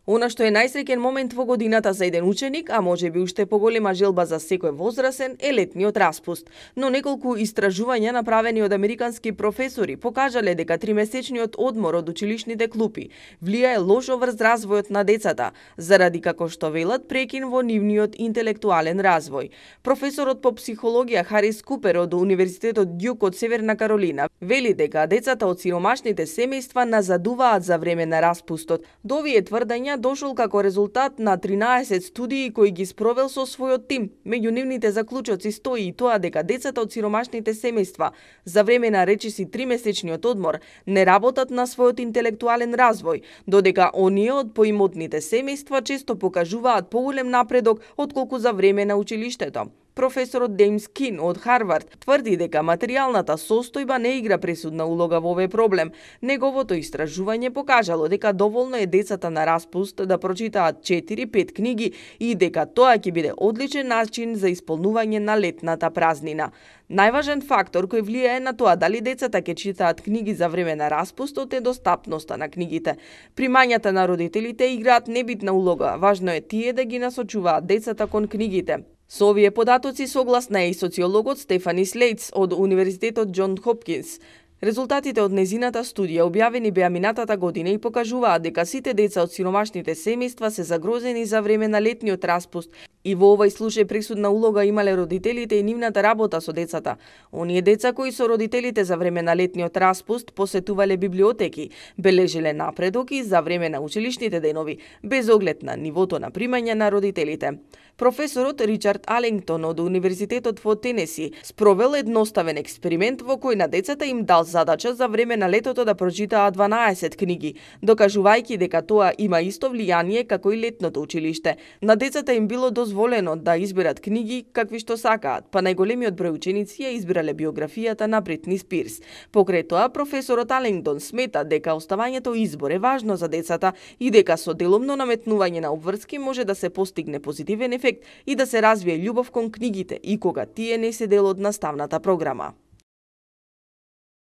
Она што е најсреќен момент во годината за еден ученик, а можеби уште поголема желба за секој возрасен, е летниот распуст. Но неколку истражувања направени од американски професори покажале дека тримесечниот одмор од училишните клупи влијае лошо врз развојот на децата, заради, како што велат, прекин во нивниот интелектуален развој. Професорот по психологија Харис Купер од Универзитетот Дјук од Северна Каролина вели дека децата од сиромашните семејства назадуваат за време на распустот. До овие тврдења дошол како резултат на 13 студии кои ги спровел со својот тим. Меѓу нивните заклучоци стои и тоа дека децата од сиромашните семејства за време на речиси 3-месечниот одмор не работат на својот интелектуален развој, додека оние од поимотните семејства често покажуваат поголем напредок отколку за време на училиштето. Професорот Деймс Кин од Харвард тврди дека материјалната состојба не игра пресудна улога во овој проблем. Неговото истражување покажало дека доволно е децата на распуст да прочитаат 4-5 книги и дека тоа ќе биде одличен начин за исполнување на летната празнина. Најважен фактор кој влијае на тоа дали децата ќе читаат книги за време на распустот е достапноста на книгите. Примањата на родителите играат небитна улога. Важно е тие да ги насочуваат децата кон книгите. Со овие податоци согласна е и социологот Стефани Слейтс од Универзитетот Џон Хопкинс. Резултатите од незината студија објавени беа минатата година и покажуваат дека сите деца од сиромашните семејства се загрозени за време на летниот распуст и во овој случај пресудна улога имале родителите и нивната работа со децата. Оние деца кои со родителите за време на летниот распуст посетувале библиотеки, бележеле напредок и за време на училишните денови, без оглед на нивото на примање на родителите. Професорот Ричард Алингтон од Универзитетот во Тенеси спровел едноставен експеримент во кој на децата им дал задача за време на летото да прочитаат 12 книги, докажувајќи дека тоа има исто влијание како и летното училиште. На децата им било дозволено да изберат книги какви што сакаат, па најголемиот број ученици ја избирале биографијата на Бритни Спирс. Покрај тоа, професорот Алингтон смета дека оставањето избор е важно за децата и дека со делумно наметнување на обврски може да се постигне позитивен ефект и да се развие љубов кон книгите и кога тие не се дел од наставната програма.